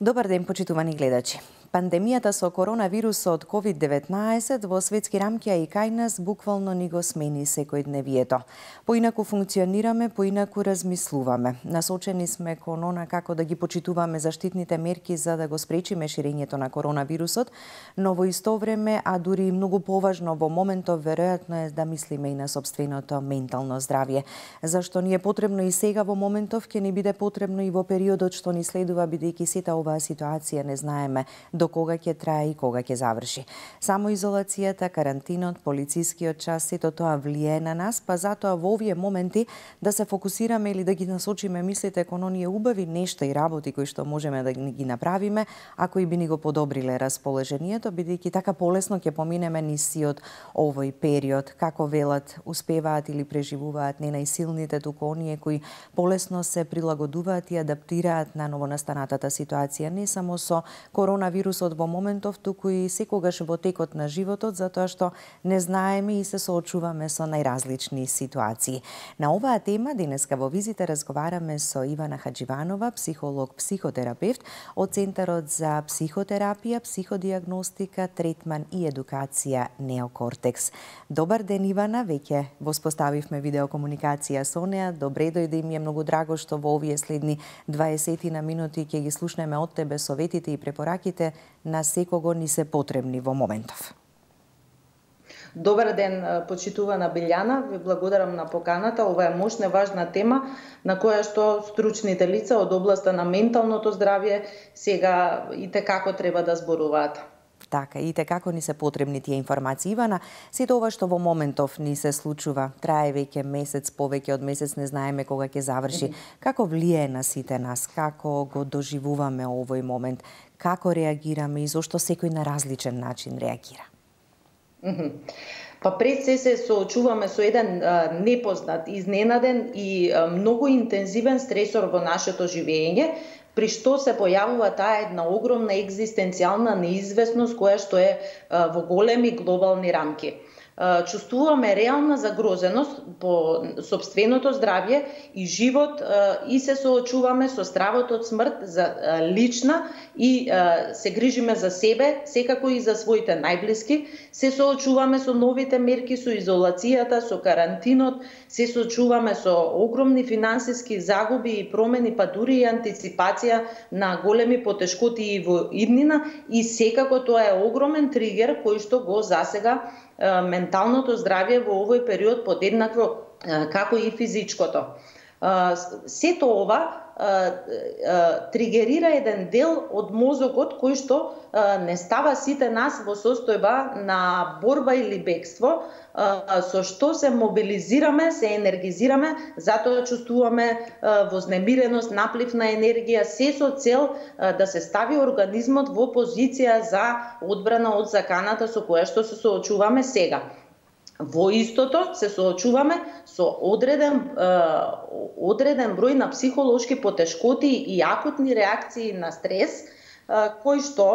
Добар ден, почитувани гледачи. Пандемијата со коронавирусот COVID-19 во светски рамки, а и кај нас, буквално ни го смени секојдневието. Поинаку функционираме, поинаку размислуваме. Насочени сме кон она како да ги почитуваме заштитните мерки за да го спречиме ширењето на коронавирусот, но во исто време, а дури и многу поважно во моментов, веројатно е да мислиме и на сопственото ментално здравје. Зашто ни е потребно и сега во моментов, ќе ни биде потребно и во периодот што ни следува, бидејќи сета оваа ситуација не знаеме до кога ќе трае и кога ќе заврши. Само изолацијата, карантинот, полицискиот час, сето тоа влијае на нас, па затоа во овие моменти да се фокусираме или да ги насочиме мислите кон оние убави нешта и работи кои што можеме да ги направиме, а кои би ни го подобриле расположението, бидејќи така полесно ќе поминеме низ сиот овој период. Како велат, успеваат или преживуваат не најсилните, туку оние кои полесно се прилагодуваат и адаптираат на новонастанатата ситуација, не само со коронавирусот во моментов, туку и секогаш во текот на животот, затоа што не знаеме и се соочуваме со најразлични ситуации. На оваа тема денеска во визите разговараме со Ивана Хаџиванова, психолог, психотерапевт од Центарот за психотерапија, психодијагностика, третман и едукација Неокортекс. Добар ден, Ивана, веќе воспоставивме видеокомуникација со неа. Добре дојде, и ми е многу драго што во овие следни 20 на минути ќе ги слушнеме од тебе советите и препораките на секого ни се потребни во моментов. Добар ден, почитувана Билјана, ви благодарам на поканата. Ова е мощна и важна тема на која што стручните лица од областа на менталното здравје сега и како треба да зборуваат. Така, и како ни се потребни тие информации. Ивана, сето ова што во моментов ни се случува, трае веќе месец, повеќе од месец, не знаеме кога ќе заврши. Како влијае на сите нас? Како го доживуваме овој момент? Како реагираме и зошто секој на различен начин реагира? Па пред се соочуваме со еден непознат, изненаден и многу интензивен стресор во нашето живење, при што се појавува таа една огромна екзистенцијална неизвестност која што е во големи глобални рамки. Чувствуваме реална загрозеност по сопственото здравје и живот и се соочуваме со стравот од смрт за лична и се грижиме за себе, секако и за своите најблиски. Се соочуваме со новите мерки, со изолацијата, со карантинот, се соочуваме со огромни финансиски загуби и промени, па дури и антиципација на големи потешкоти и во иднина, и секако тоа е огромен тригер кој што го засега менталното здравје во овој период подеднакво како и физичкото. Сето ова тригерира еден дел од мозокот кој што не става сите нас во состојба на борба или бегство, со што се мобилизираме, се енергизираме, затоа чувствуваме вознемиреност, наплив на енергија, се со цел да се стави организмот во позиција за одбрана од заканата со која што се соочуваме сега. Во истото се соочуваме со одреден број на психолошки потешкоти и акутни реакции на стрес, кој што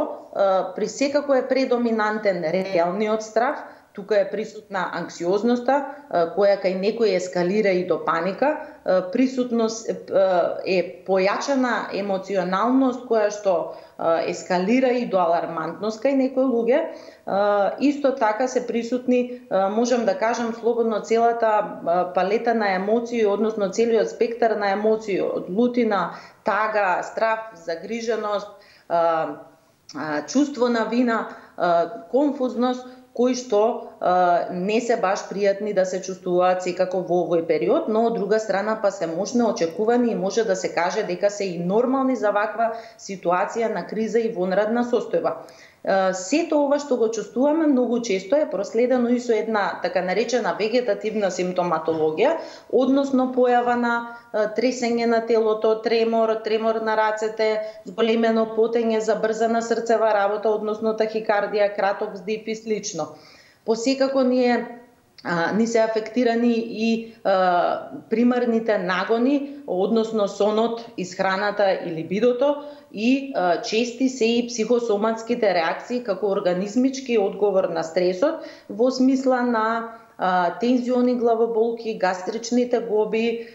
при секако е предоминантен реалниот страв. Тука е присутна анксиозноста, која кај некој ескалира и до паника, присутност е појачана емоционалност која што ескалира и до алармантност кај некои луѓе. Исто така се присутни, можам да кажам слободно, целата палета на емоции, односно целиот спектар на емоции, од лутина, тага, страв, загриженост, чувство на вина, конфузност, кои што не се баш пријатни да се чувствуваат секако во овој период, но од друга страна па се можно очекувани и може да се каже дека се и нормални за ваква ситуација на криза и вонредна состојба. Сето ова што го чувствуваме многу често е проследено и со една така наречена вегетативна симптоматологија, односно појава на тресење на телото, тремор на рацете, зголемено потење, забрзана срцева работа, односно тахикардија, краток вздив и слично. Посекако ни се афектирани и примарните нагони, односно сонот, исхраната и либидото, и чести се и психосоматските реакции како организмички одговор на стресот во смисла на тензиони главоболки, гастрични тегоби,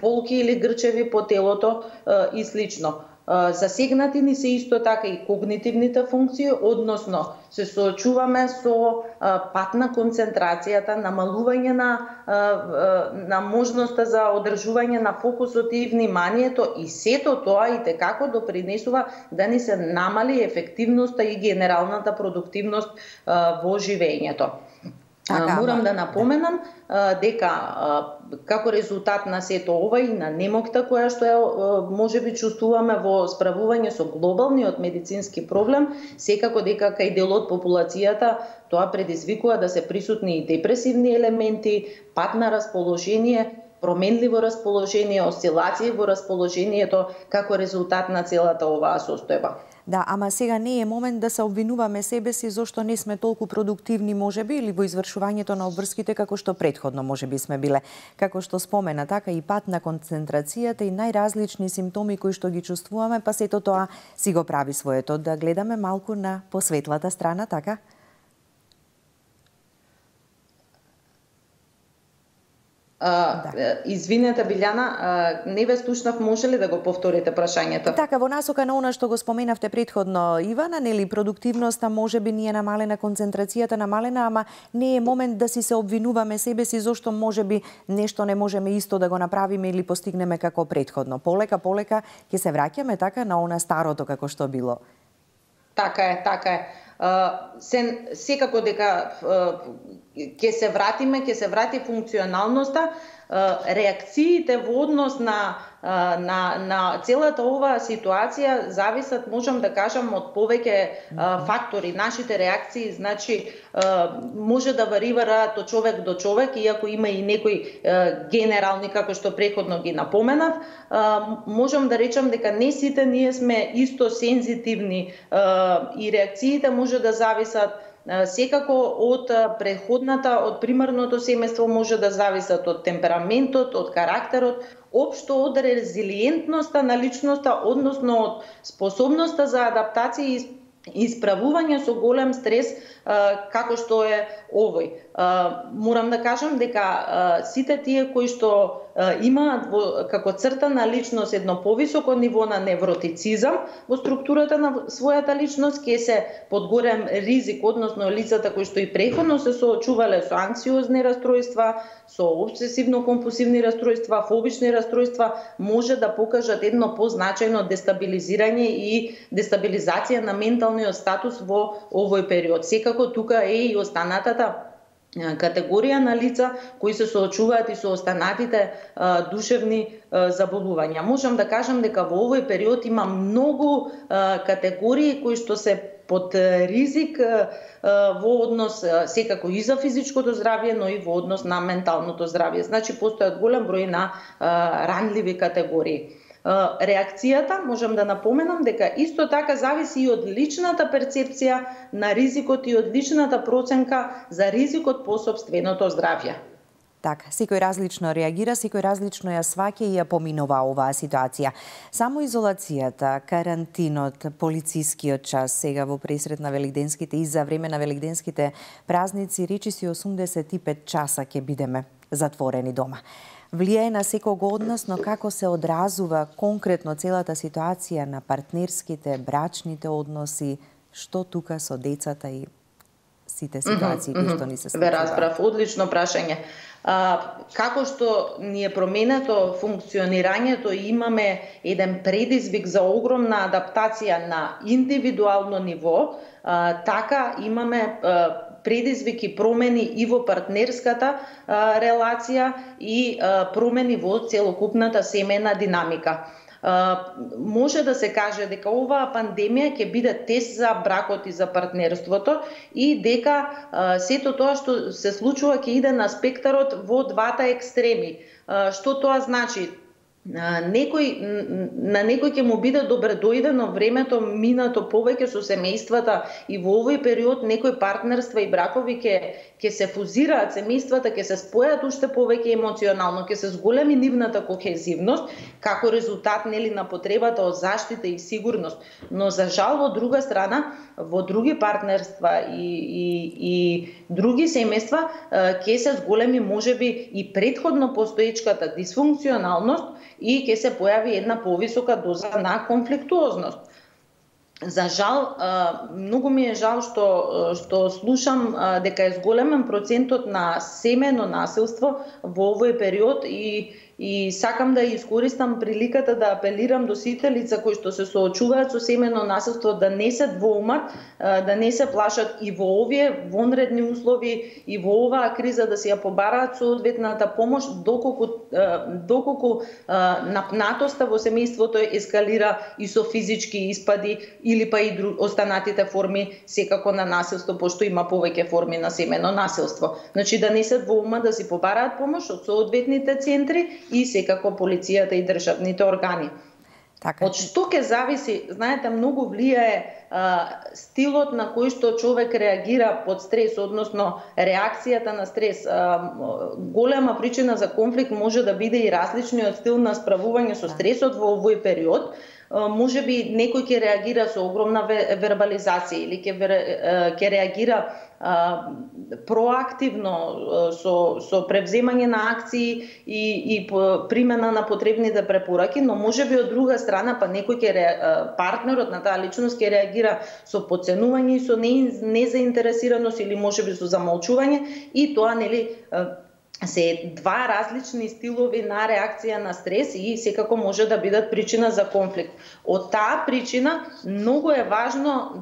болки или грчеви по телото и слично. Засегнати ни се исто така и когнитивните функции, односно се соочуваме со пат на концентрацијата, намалување на можноста за одржување на фокусот и вниманието, и сето тоа и текако допринесува да ни се намали ефективноста и генералната продуктивност во живењето. Морам да напоменам дека како резултат на сето ова и на немокта која што можеби чувствуваме во справување со глобалниот медицински проблем, секако дека кај дел од популацијата тоа предизвикува да се присутни и депресивни елементи, пат на расположение, променливо расположение, осцилации во расположението како резултат на целата оваа состојба. Да, ама сега не е момент да се обвинуваме себе си зошто не сме толку продуктивни можеби или во извршувањето на обврските како што претходно можеби сме биле. Како што спомена, така и пат на концентрацијата и најразлични симптоми кои што ги чувствуваме, па сето тоа си го прави своето. Да гледаме малку на посветлата страна, така? Извинете, Билјана, не ве слушнав, може ли да го повторите прашањето? Така, во насока на она што го споменавте претходно, Ивана, нели продуктивноста можеби ни е намалена, концентрацијата намалена, ама не е момент да си се обвинуваме себе си зошто можеби нешто не можеме исто да го направиме или постигнеме како претходно. Полека ќе се враќаме така на она старото како што било. Така е. Секако дека ќе се врати функционалноста, реакциите во однос на целата оваа ситуација зависат, можам да кажам, од повеќе фактори. Нашите реакции, значи, може да варираат од човек до човек, иако има и некои генерални, како што преходно ги напоменав. Можам да речам дека не сите ние сме исто сензитивни и реакциите може да зависат секако од од примарното семејство, може да зависат од темпераментот, од карактерот, општо од резилиентноста на личноста, односно од способноста за адаптација и исправување со голем стрес како што е овој. Морам да кажам дека сите тие кои што имаат како црта на личност едно повисоко ниво на невротицизам во структурата на својата личност, ќе се под голем ризик, односно лицата кои што и преходно се соочувале со анксиозни растројства, со обсесивно-компулсивни растројства, фобични растројства, може да покажат едно позначајно дестабилизирање и дестабилизација на менталниот статус во овој период. Секако тука е и останатата категорија на лица кои се соочуваат и со останатите душевни заболувања. Можам да кажам дека во овој период има многу категории кои што се под ризик во однос секако и за физичкото здравје, но и во однос на менталното здравје. Значи, постојат голем број на ранливи категории. Реакцијата, можам да напоменам дека исто така зависи и од личната перцепција на ризикот и од личната проценка за ризикот по сопственото здравје. Така, секој различно реагира, секој различно ја сваќа и ја поминува оваа ситуација. Само изолацијата, карантинот, полицискиот час сега во пресред на велигденските и за време на велигденските празници, речиси 85 часа ќе бидеме затворени дома. Влијае на секого од нас, но како се одразува конкретно целата ситуација на партнерските, брачните односи, што тука со децата и сите ситуации кои што ни се случуваат? Ве разбрав, одлично прашање. Како што ни е променето функционирањето и имаме еден предизвик за огромна адаптација на индивидуално ниво, така имаме предизвик и промени и во партнерската релација и промени во целокупната семејна динамика. Може да се каже дека оваа пандемија ќе биде тест за бракот и за партнерството и дека сето тоа што се случува ќе иде на спектарот во двата екстреми. Што тоа значи? На некој ќе му биде добредојдено времето минато повеќе со семејствата и во овој период некои партнерства и бракови ќе се фузираат, семејствата ќе се спојат уште повеќе емоционално, ќе се зголеми нивната кохезивност како резултат на потребата од заштита и сигурност. Но за жал во друга страна, во други партнерства и други семејства ќе се зголеми можеби и претходно постоечката дисфункционалност и ќе се појави една повисока доза на конфликтуозност. За жал, многу ми е жал што слушам дека е зголемен процентот на семено насилство во овој период и сакам да искористам приликата да апелирам до сите лица кои што се соочуваат со семено насилство да не се двоумат, да не се плашат и во овие вонредни услови и во оваа криза да си ја побараат соодветната помош доколку напнатоста во семејството ескалира и со физички испади или па и останатите форми секако на насилство, пошто има повеќе форми на семено насилство. Значи да не се двоумат, да си побараат помош од соодветните центри и секако полицијата и државните органи. Така. Од што ќе зависи, знаете, многу влијае стилот на кој што човек реагира под стрес, односно реакцијата на стрес. Голема причина за конфликт може да биде и различниот стил на справување со стресот во овој период. Може би некој ќе реагира со огромна вербализација или ќе реагира проактивно со превземање на акции и примена на потребните препораки, но може би од друга страна па некој партнерот на таа личност ќе реагира со подценување и со незаинтересираност или може би со замолчување и тоа се два различни стилови на реакција на стрес и секако може да бидат причина за конфликт. Од таа причина многу е важно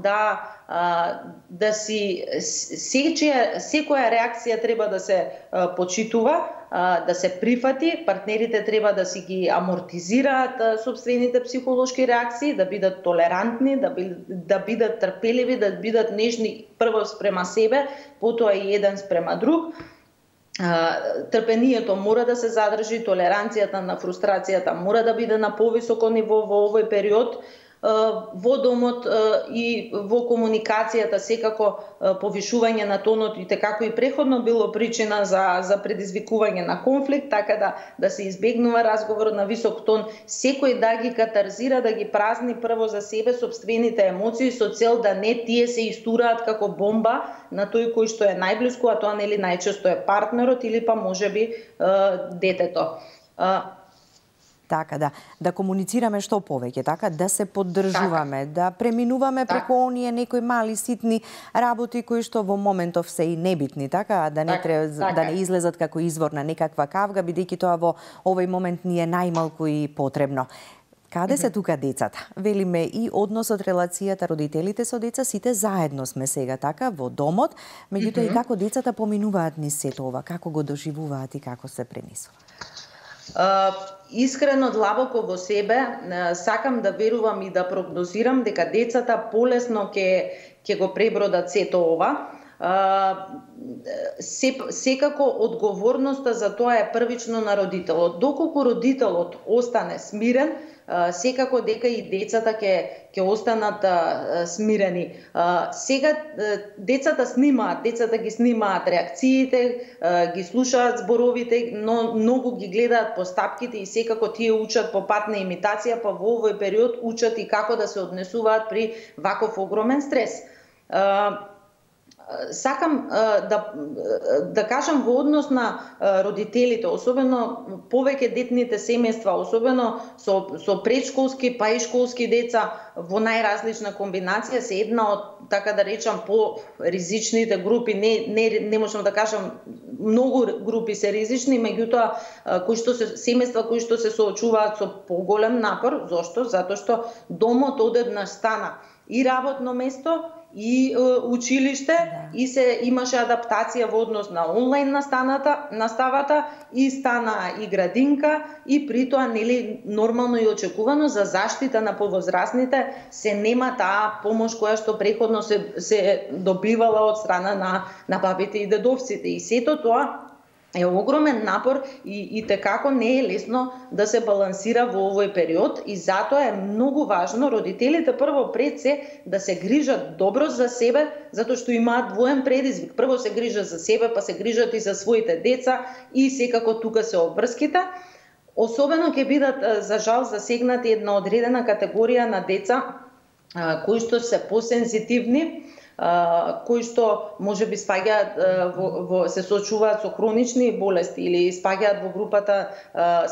да си секоја реакција треба да се почитува, да се прифати, партнерите треба да си ги амортизираат собствените психолошки реакции, да бидат толерантни, да бидат трпеливи, да бидат нежни прво спрема себе, потоа и еден спрема друг. Трпението мора да се задржи, толеранцијата на фрустрацијата мора да биде на повисоко ниво во овој период. Во домот и во комуникацијата секако повишување на тонот и како и преходно било причина за предизвикување на конфликт, така да се избегнува разговор на висок тон, секој да ги катарзира, да ги празни прво за себе собствените емоции со цел да не тие се истураат како бомба на тој кој што е најблиску, а тоа нели најчесто е партнерот или па можеби детето. Така, да комуницираме што повеќе, така, да се поддржуваме, да преминуваме преку оние некои мали ситни работи кои што во моментов се и небитни, така, да не излезат како извор на некаква кавга, бидејќи тоа во овој момент ни е најмалку и потребно. Каде се тука децата? Велиме и односот, релацијата, родителите со деца, сите заедно сме сега, така, во домот, меѓутоа и како децата поминуваат низ сето ова, како го доживуваат и како се пренесува? Искрено, длабоко во себе, сакам да верувам и да прогнозирам дека децата полесно ќе го пребродат сето ова. Секако одговорноста за тоа е првично на родителот. Доколку родителот остане смирен, секако дека и децата ќе останат смирени. Сега децата ги снимаат реакциите, ги слушаат зборовите, но многу ги гледаат постапките и секако тие учат по пат на имитација, па во овој период учат и како да се однесуваат при ваков огромен стрес. Сакам да кажам во однос на родителите, особено повеќе детните семејства, особено со предшколски па и школски деца во најразлична комбинација, се една од, така да речам, по-ризичните групи. Не можам да кажам, многу групи се ризични, меѓутоа семејства кои што се соочуваат со поголем напор. Зошто? Затоа што домот одеднаш стана и работно место, и училиште, и се имаше адаптација во однос на онлайн наставата, и стана и градинка, и при тоа нели нормално и очекувано за заштита на повозрасните се нема таа помош која што преходно се добивала од страна на бабите и дедовците. И сето тоа е огромен напор и текако не е лесно да се балансира во овој период и затоа е многу важно родителите прво пред се да се грижат добро за себе, затоа што имаат двоен предизвик. Прво се грижат за себе, па се грижат и за своите деца и секако тука се обврските. Особено ќе бидат за жал засегнати една одредена категорија на деца кои што се посензитивни, кои што можеби спаѓаат се соочуваат со хронични болести или спаѓаат во групата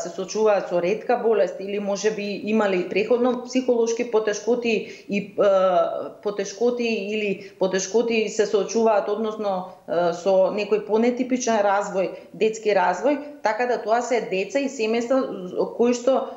се соочуваат со ретка болест или можеби имали преходно психолошки потешкоти или потешкоти се соочуваат односно со некој понетипичен развој, детски развој, така да тоа се деца и семејства кои што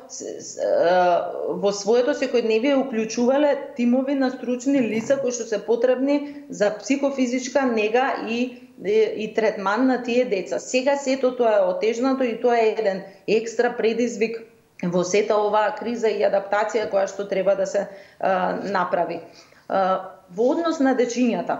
во своето секојдневие уклучувале тимови на стручни лица кои што се потребни за психофизичка нега и третман на тие деца. Сега сето тоа е отежнато и тоа е еден екстра предизвик во сета оваа криза и адаптација која што треба да се направи. Во однос на дечињата,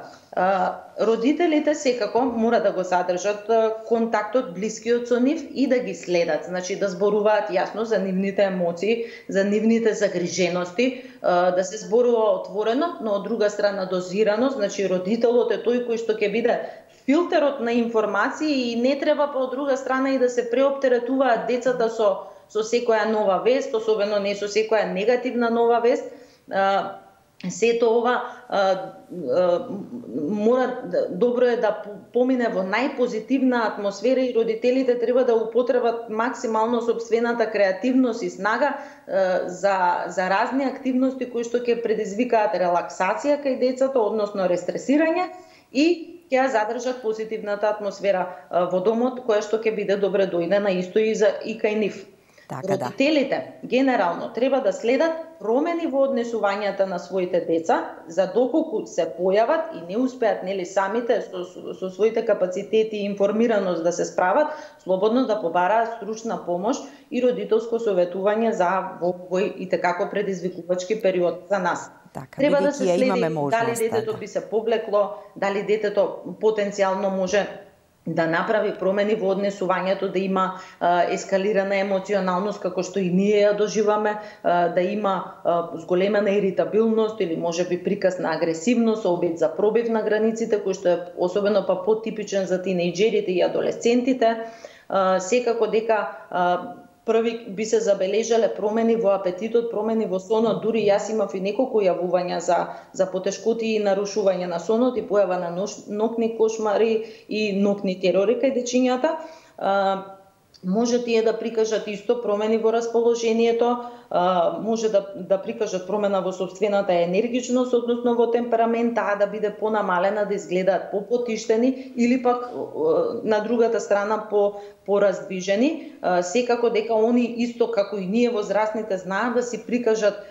родителите секако мора да го задржат контактот блискиот со нив и да ги следат, значи да зборуваат јасно за нивните емоции, за нивните загрижености, да се зборува отворено, но од друга страна дозирано, значи родителот е тој кој што ќе биде филтерот на информации и не треба по друга страна и да се преоптеретуваат децата со секоја нова вест, особено не со секоја негативна нова вест. Сето ова добро е да помине во најпозитивна атмосфера и родителите треба да употребат максимално сопствената креативност и снага за разни активности кои што ќе предизвикаат релаксација кај децата, односно рестресирање и ќе задржат позитивната атмосфера во домот, која што ќе биде добре дојдена исто и кај нив. Родителите генерално треба да следат промени во однесувањата на своите деца, за доколку се појават и не успеат самите со своите капацитети и информираност да се справат, слободно да побараат стручна помош и родителско советување за овој и такако предизвикувачки период за нас. Треба да се следи дали детето би се повлекло, дали детето потенцијално може да направи промени во однесувањето, да има ескалирана емоционалност како што и ние ја доживаме, да има зголемена иритабилност или можеби приказ на агресивност, обид за пробив на границите, кој што е особено потипичен за тинејџерите и адолесцентите. Секако дека први би се забележале промени во апетитот, промени во сонот, дури јас имав и неколку јавувања за потешкоти и нарушување на сонот и појава на ноќни кошмари и ноќни терори кај дечињата. Може тие да прикажат исто промени во расположението, може да прикажат промена во собствената енергичност, односно во темперамент, таа да биде понамалена, да изгледаат попотиштени или пак на другата страна пораздвижени. Секако дека они исто како и ние возрастните знаат да си прикажат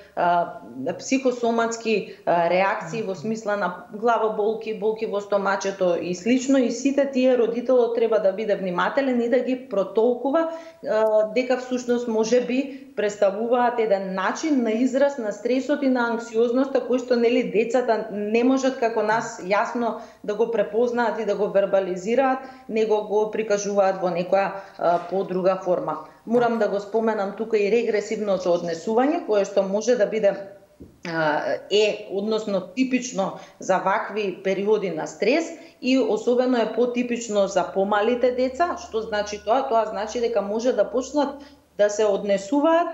психосоматски реакции во смисла на главоболки, болки во стомачето и слично, и сите тие родителот треба да биде внимателен и да ги протолкува дека всушност може би представуваат еден начин на израз на стресот и на анксиозноста кој што децата не можат како нас јасно да го препознаат и да го вербализираат, него го прикажуваат во некоја подруга форма. Морам да го споменам тука и регресивното однесување, кое што може да биде односно типично за вакви периоди на стрес и особено е потипично за помалите деца. Што значи тоа? Тоа значи дека може да почнат да се однесуваат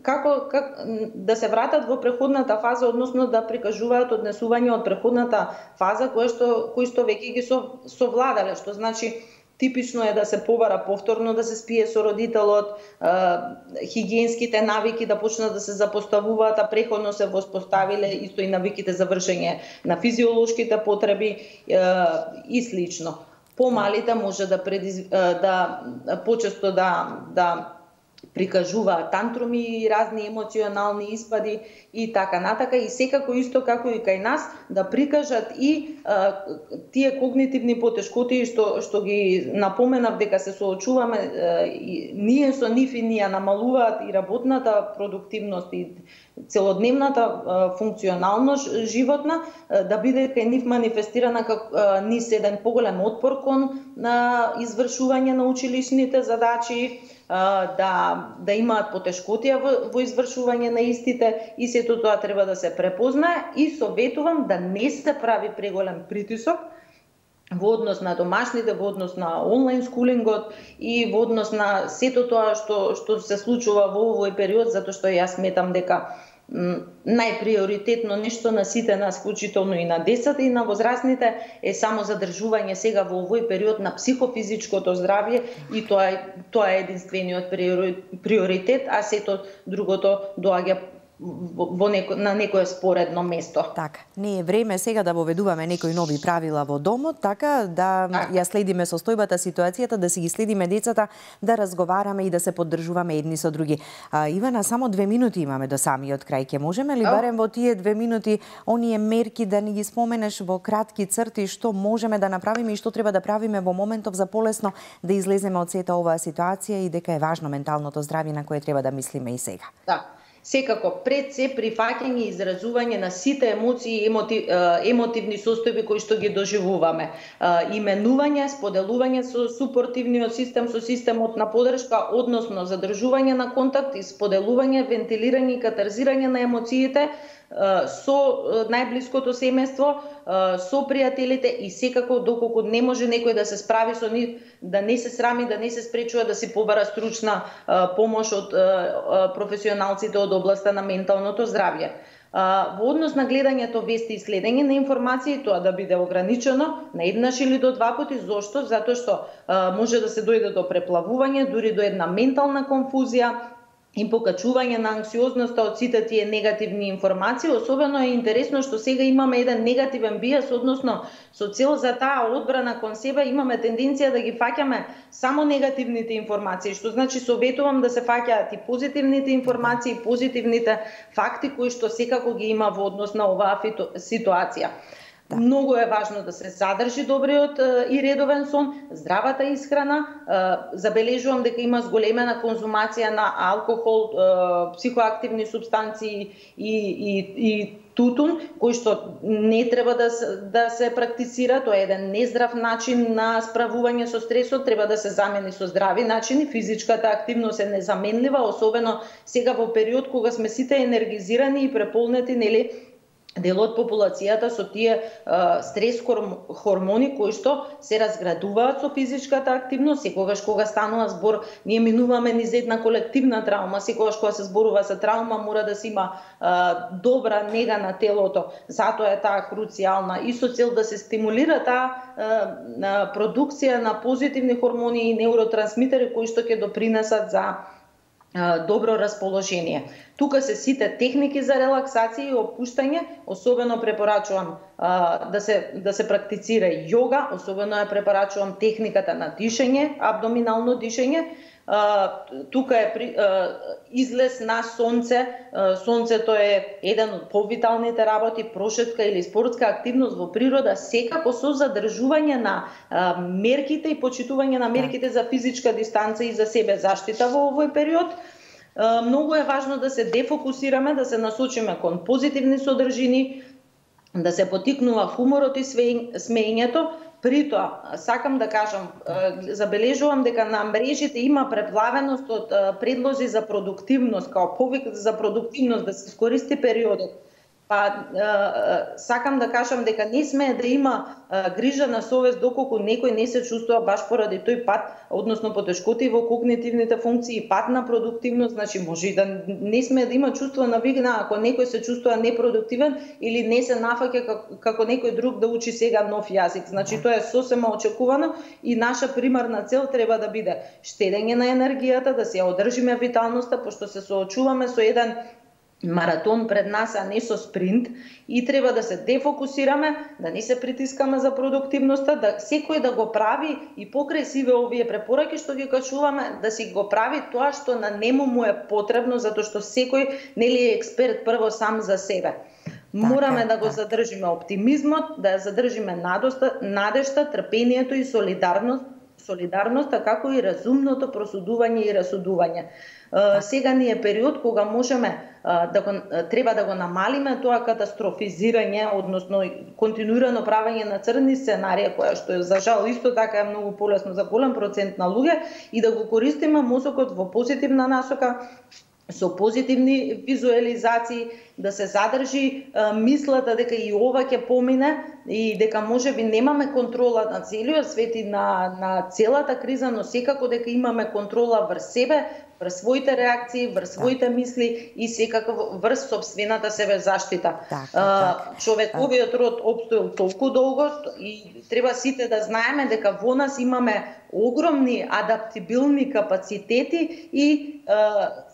како да се вратат во преходната фаза, односно да прикажуваат однесување од преходната фаза кои што веќе ги совладале, што значи типично е да се побара повторно да се спие со родителот, хигиенските навики да почнат да се запоставуваат, а преходно се воспоставиле исто и навиките за вршење на физиолошките потреби и слично. Помалите може да почесто да прикажуваат тантруми и разни емоционални испади и така натака, и секако исто како и кај нас да прикажат и тие когнитивни потешкоти што ги напоменав дека се соочуваме ние со нив и ни ја намалуваат и работната продуктивност и целодневната функционалност животна, да биде кај нив манифестирана низ еден поголем отпор кон извршување на училишните задачи, да имаат потешкотија во извршување на истите, и сето тоа треба да се препознае, и советувам да не се прави преголем притисок во однос на домашните, во однос на онлайн скулингот и во однос на сето тоа што се случува во овој период, затоа што јас сметам дека најприоритетно нешто на сите нас, вклучително и на децата и на возрастните, е само задржување сега во овој период на психофизичкото здравје и тоа е единствениот приоритет, а сето другото доаѓа на некое споредно место. Така, не е време сега да воведуваме некои нови правила во домот, така да ја следиме состојбата, ситуацијата, да си ги следиме децата, да разговараме и да се поддржуваме едни со други. Ивана, само 2 минути имаме до самиот крај. Ке можеме ли барем во тие 2 минути оние мерки да ни ги споменеш во кратки црти што можеме да направиме и што треба да правиме во моментов за полесно да излеземе од сета оваа ситуација и дека е важно менталното здравје на кое треба да мислиме и сега? Да. Секако, пред се прифаќање и изразување на сите емоции и емотивни состојби кои што ги доживуваме. Именување, споделување со супортивниот систем, со системот на поддршка, односно задржување на контакт и споделување, вентилирање и катарзирање на емоциите со најблиското семејство, со пријателите и секако доколку не може некој да се справи со нив, да не се срами, да не се спречува да си побара стручна помош од професионалците од областа на менталното здравје. Во однос на гледањето вести и следење на информации, тоа да биде ограничено на еднаш или до 2 пати. Зошто? Затоа што може да се дојде до преплавување, дури до една ментална конфузија и покачување на анксиозноста од сите тие негативни информации. Особено е интересно што сега имаме еден негативен бијас, односно со цел за таа одбрана кон себе имаме тенденција да ги фаќаме само негативните информации, што значи советувам да се фаќаат и позитивните информации, позитивните факти кои што секако ги има во однос на оваа ситуација. Да. Многу е важно да се задржи добриот и редовен сон, здравата исхрана. Забележувам дека има зголемена конзумација на алкохол, психоактивни супстанции и тутун, кој што не треба да се практицира. Тоа е еден нездрав начин на справување со стресот, треба да се замени со здрави начини. Физичката активност е незаменлива, особено сега во период кога сме сите енергизирани и преполнети, нели, дел од популацијата со тие стрес хормони кои што се разградуваат со физичката активност. Секогаш кога станува збор, ние минуваме низ една колективна травма, секогаш кога се зборува за травма мора да се има добра нега на телото. Затоа е таа круцијална и со цел да се стимулира таа продукција на позитивни хормони и неуротрансмитери кои што ќе допринесат за добро расположение. Тука се сите техники за релаксација и опуштање, особено препорачувам да се практицира йога, особено ја препорачувам техниката на дишење, абдоминално дишење. Тука е излез на сонце. Сонцето е еден од повиталните работи, прошетка или спортска активност во природа, секако со задржување на мерките и почитување на мерките за физичка дистанца и за себе заштита во овој период. Многу е важно да се дефокусираме, да се насочиме кон позитивни содржини, да се потикнува хуморот и смеењето. При тоа, сакам да кажам, забележувам дека на мрежите има преплавеност од предлози за продуктивност, као повик за продуктивност, да се искористи периодот. Сакам да кажам дека не смее да има грижа на совест доколку некој не се чувствува баш поради тој пат, односно потешкоти во когнитивните функции, пат на продуктивност, значи може и да не смее да има чувство на вигна ако некој се чувствува непродуктивен или не се нафаќа како некој друг да учи сега нов јазик. Значи тоа е сосема очекувано и наша примарна цел треба да биде штедење на енергијата, да се ја одржиме виталноста, пошто се соочуваме со еден маратон пред нас, а не со спринт, и треба да се дефокусираме, да не се притискаме за продуктивноста, да секој да го прави и покрај сиве овие препораки што ги качуваме, да си го прави тоа што на нему му е потребно, затоа што секој нели е експерт прво сам за себе. Мораме да го задржиме оптимизмот, да ја задржиме надежта, трпението и солидарноста, како и разумното просудување и расудување. Сега ни е период кога можеме треба да го намалиме тоа катастрофизирање, односно континуирано правење на црни сценарија, која што за жал исто така е многу полесно за голем процент на луѓе, и да го користиме мозокот во позитивна насока, со позитивни визуализации, да се задржи мислата дека и ова ќе помине и дека можеби немаме контрола на целиот свет и на целата криза, но секако дека имаме контрола врз себе, врз своите реакции, врз своите мисли и секако врз собствената себе заштита. Човековиот род опстоил толку долго и треба сите да знаеме дека во нас имаме огромни адаптибилни капацитети и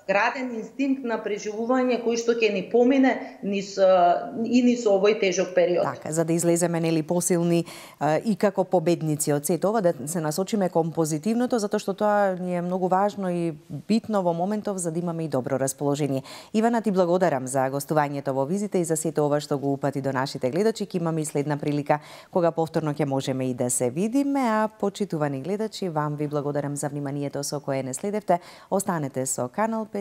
граден инстинкт на преживување кој што ќе ни помине ни со овој тежок период. Така, за да излеземе посилни и како победници од сето ова, да се насочиме кон позитивното, затоа што тоа ни е многу важно и битно во моментов за да имаме и добро расположение. Ивана, ти благодарам за гостувањето во Визите и за сето ова што го упати до нашите гледачи. Ќе имаме и следна прилика кога повторно ќе можеме и да се видиме, а почитувани гледачи, вам ви благодарам за вниманието со кое не следевте. Останете со Канал 5